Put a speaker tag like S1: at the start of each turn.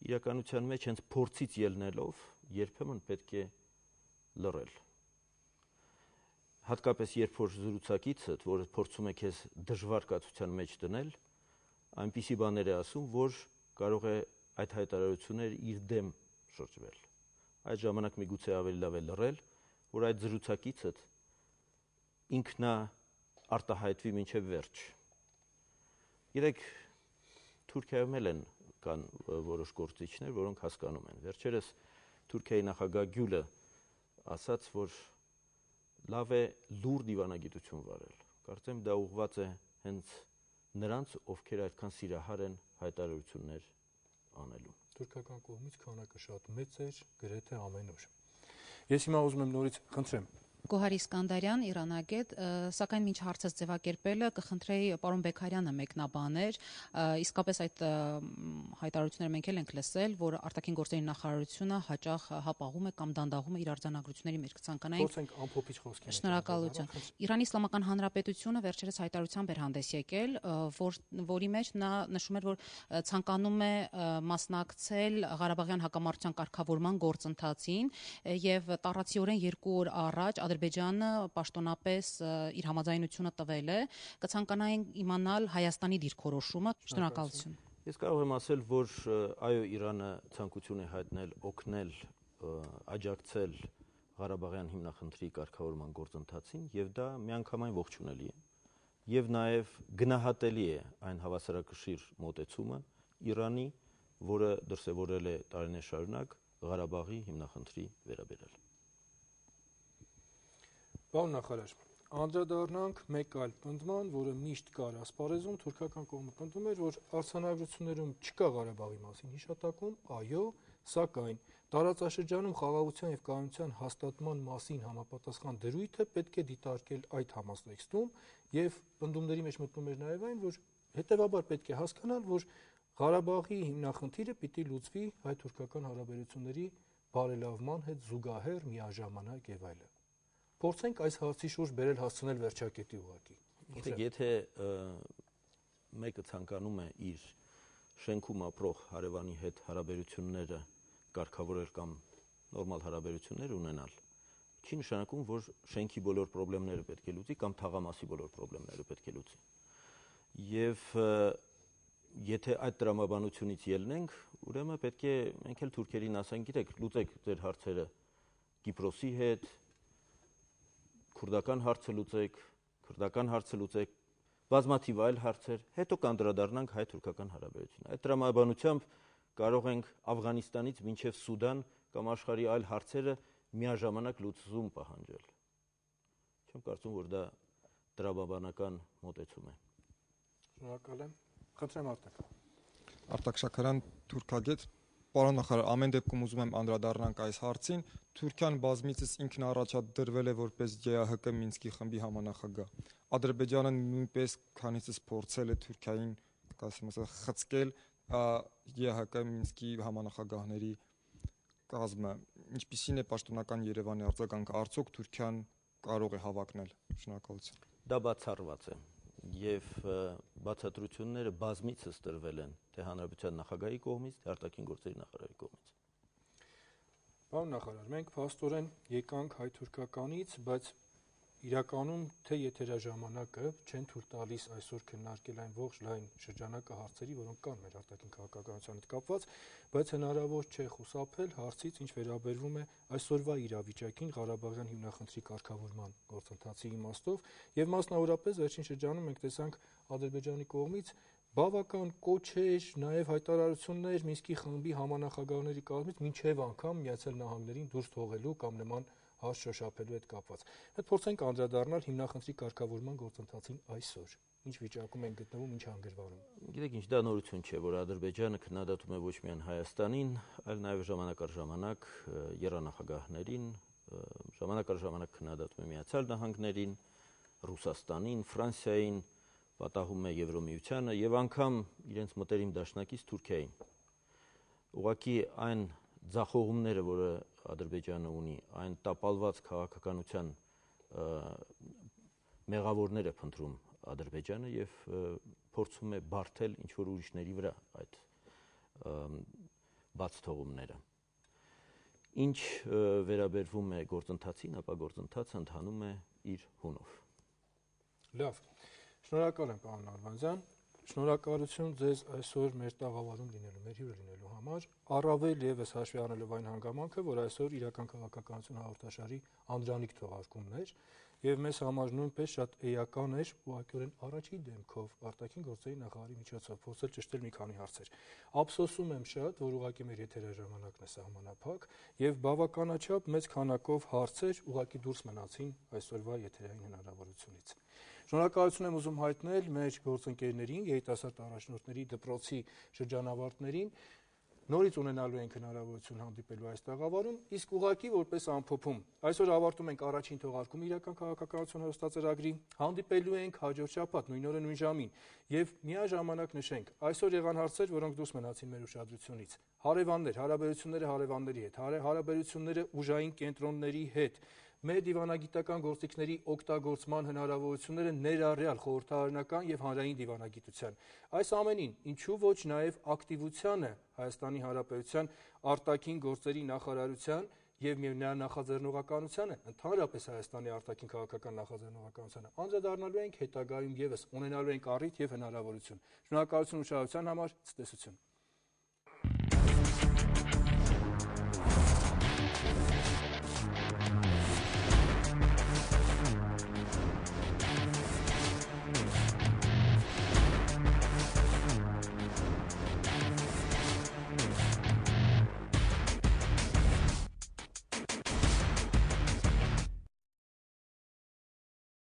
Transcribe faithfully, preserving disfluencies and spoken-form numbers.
S1: իրականության մեջ հենց փորձից ելնելով երբեմն պետք է լռել։ Հատկապես երբ որ զրուցակիցդ, որը փորձում է քեզ դժվար կացության մեջ դնել, այնպիսի բաներ է ասում, որ կարող է այդ հայտարարությունները իր դեմ շրջվել։ Այդ ժամանակ միգուցե ավելի լավ է լռել, որ այդ զրուցակիցդ ինքնա արտահայտվի մինչև վերջ։ Գիտեք, Թուրքիայում էլ են կան որոշ գործիչներ, որոնք հասկանում են։ Վերջերս Թուրքիայի նախագահ Գյուլը ասաց, որ լավ է լուր դիվանագիտություն վարել։ Կարծեմ դա ուղղված է հենց նրանց, ովքեր այդքան սիրահար են հայտարարություններ անելու։
S2: Թուրքական կողմից քանակը շատ մեծ էր, գրեթե ամեն օր։ Ես հիմա ուզում եմ նորից խնդրեմ
S3: Գոհար Իսկանդարյան, Իրանագետ, սակայն մինչ հարցս ձևակերպելը կխնդրեի պարոն Բեքարյանը մեկնաբաներ, իսկապես այդ հայտարարությունները մենք էլ ենք լսել, որ արտաքին գործերի նախարարությունը հաճախ հապաղում է կամ դանդաղում է իր արձանագրությունների մեջ, կցանկանայինք
S2: Փորձենք ամփոփիչ խոսքեր։
S3: Շնորհակալություն։ Իրանի Իսլամական Հանրապետությունը վերջերս հայտարարությամբ էր հանդես եկել, որ, որի մեջ նա նշում էր, որ ցանկանում է մասնակցել Ղարաբաղյան հակամարտության կարգավորման գործընթացին եւ տառացիորեն երկու օր առաջ Ադրբեջանը պաշտոնապես իր համաձայնությունը տվել է, կցանկանային իմանալ Հայաստանի դիրքորոշումը։ Շնորհակալություն։
S1: Ես կարող եմ ասել, որ այո, Իրանը ցանկություն է հայտնել օգնել, աջակցել Ղարաբաղյան հիմնախնդրի կարգավորման գործընթացին եւ դա միանգամայն ողջունելի է եւ նաեւ գնահատելի է այն հավասարակշիռ մոտեցումը Իրանի, որը դրսևորել է տարիներ շարունակ Ղարաբաղի հիմնախնդրի վերաբերյալ։
S2: Պարոն նախարար, անդրադառնանք մեկ այլ պնդման, որը միշտ կար ասպարեզում, թուրքական կողմը պնդում էր, որ արձանագրություններում չկա Ղարաբաղի մասին հիշատակում, այո, սակայն տարածաշրջանում խաղաղության եւ կայունության հաստատման մասին համապատասխան դրույթը պետք է դիտարկել այդ համատեքստում եւ պնդումների մեջ մտնում էր նաեւ այն, որ հետեւաբար պետք է հասկանալ, որ Ղարաբաղի հիմնախնդիրը պիտի լուծվի հայ-թուրքական հարաբերությունների բարելավման հետ զուգահեռ միաժամանակ եւ այլն։ Փորձենք այս հարցի շուրջ բերել հասցնել վերջակետի ուղղակի։
S1: Գիտեք, եթե մեկը ցանկանում է իր շենքում ապրող հարևանի հետ հարաբերությունները կարգավորել կամ նորմալ հարաբերություններ ունենալ, չի նշանակում, որ շենքի բոլոր խնդիրները պետք է լուծի կամ թաղամասի բոլոր խնդիրները պետք է լուծի։ Եվ եթե այդ տրամաբանությունից ելնենք, ուրեմն պետք է մենք էլ թուրքերին ասենք, գիտեք, լուծեք ձեր հարցերը Կիպրոսի հետ, քուրդական հարցը լուծեք, քրդական հարցը լուծեք, բազմաթիվ այլ հարցեր, հետո կանդրադառնանք հայ-թուրքական հարաբերություններին։ Այդ տրամաբանությամբ կարող ենք Աֆղանիստանից մինչև Սուդան կամ աշխարհի այլ հարցերը միաժամանակ լուծում պահանջել։ Չեմ կարծում, որ դա տրամաբանական մոտեցում է։
S2: Շնորհակալ եմ։ Խնդրեմ Արտակ։
S4: Արտակ Շաքարյան, թուրքագետ, պարոն նախարար, ամեն դեպքում ուզում եմ անդրադառնանք այս հարցին։ Թուրքիան բազմիցս ինքն առաջադրվել է որպես Ջ Ա Հ Կ Մինսկի խմբի համանախագահ։ Ադրբեջանը նույնպես քանիցս փորձել է Թուրքիային, ասեմ ասել, խցկել Ջ Ա Հ Կ Մինսկի համանախագահների կազմը։ Ինչպիսին է պաշտոնական Երևանի արձագանքը, արդյոք Թուրքիան կարող է հավակնել։ Շնորհակալություն։
S1: Դա բացառված է եւ բացատրությունները բազմիցս տրվել են թե հանրապետության նախագահի կողմից, թե արտաքին գործերի նախարարի կողմից։
S2: Պարոն նախարար, մենք փաստորեն եկանք հայ-թուրքականից, բայց իրականում թե եթերաժամանակը չեն թույլ տալիս այսօր քննարկել այն ողջ լայն շրջանակը հարցերի, որոնք կան մեր արտաքին քաղաքականության հետ կապված, բայց հնարավոր չէ խուսափել հարցից, ինչ վերաբերվում է այսօրվա իրավիճակին Ղարաբաղյան հիմնախնդրի կարգավորման գործընթացի իմաստով, եւ մասնավորապես վերջին շրջանում մենք տեսանք Ադրբեջանի կողմից բավական կոչեր, նաև հայտարարություններ Մինսկի խմբի համանախագահների կողմից մինչև անգամ Միացյալ Նահանգներին դուրս թողելու կամ նման հարց շոշափելու հետ կապված։ Հետ փորձենք անդրադառնալ հիմնախնդրի կարգավորման գործընթացին այսօր։ Ինչ վիճակում են գտնվում, ինչ հանգրվանում։
S1: Գիտեք, ինչ դա նորություն չէ, որ Ադրբեջանը քննադատում է ոչ միայն Հայաստանին, այլ նաև ժամանակ առ ժամանակ եռանախագահներին, ժամանակ առ ժամանակ քննադատում է Միացյալ Նահանգներին, Ռուսաստանին, Ֆրանսիային, պատահում է Եվրոմիությանը եւ անգամ իրենց մտերիմ դաշնակից Թուրքիային։ Ուղղակի այն ձախողումները, որը Ադրբեջանը ունի, այն տապալված քաղաքականության մեղավորներ է փնտրում Ադրբեջանը եւ փորձում է բարթել ինչ որ ուրիշների վրա այդ բաց թողումները։ Ինչ վերաբերվում է գործընթացին, ապա գործընթացը ընթանում է իր հունով։
S2: Լավ, շնորհակալ եմ պարոն Արվանձյան, շնորհակալություն ձեզ այսօր մեր տաղավարում լինելու, մեր հյուրը լինելու համար, առավել ևս հաշվի առնելով այն հանգամանքը, որ այսօր իրական քաղաքականություն հաղորդաշարի անդրանիկ թողարկումն էր, եւ մեզ համար նույնպես շատ էական էր ուղղակիորեն առաջի դեմքով արտաքին գործերի նախարարի միջոցով փորձել ճշտել մի քանի հարցեր։ Ափսոսում եմ շատ, որ ուղղակի մեր եթերաժամանակն է սահմանափակ եւ բավականաչափ մեծ քանակով հարցեր ուղղակի դուրս մնացին այսօրվա եթերային հնարավորությունից։ Շնորհակալություն եմ ուզում հայտնել մեր գործընկերներին, երիտասարդ առաջնորդների դպրոցի շրջանավարտներին, նորից ունենալու ենք հնարավորություն հանդիպելու այս տաղավարում, իսկ ուղղակի որպես ամփոփում։ Այսօր ավարտում ենք առաջին թողարկումը իրական քաղաքականություն հեռուստածրագրի, հանդիպելու ենք հաջորդ շաբաթ նույն օրը նույն ժամին եւ միաժամանակ նշենք, այսօր եղան հարցեր, որոնք դուրս մնացին մեր ուշադրությունից։ Հարևաններ, հարաբերությունները հարևանների հետ, հարաբերությունները ուժային կենտրոնների հետ, մեր դիվանագիտական գործիքների օգտագործման հնարավորությունները ներառյալ խորհրդարանական եւ հանրային դիվանագիտության։ Այս ամենին, ինչու ոչ նաեւ ակտիվությանը Հայաստանի Հանրապետության արտաքին գործերի նախարարության եւ նրա նախաձեռնողականությանը, ընդհանրապես Հայաստանի արտաքին քաղաքական նախաձեռնողականությանը անդրադառնալու ենք հետագայում եւս ունենալու ենք առիթ եւ հնարավորություն։ Շնորհակալություն ուշադրության համար, ցտեսություն։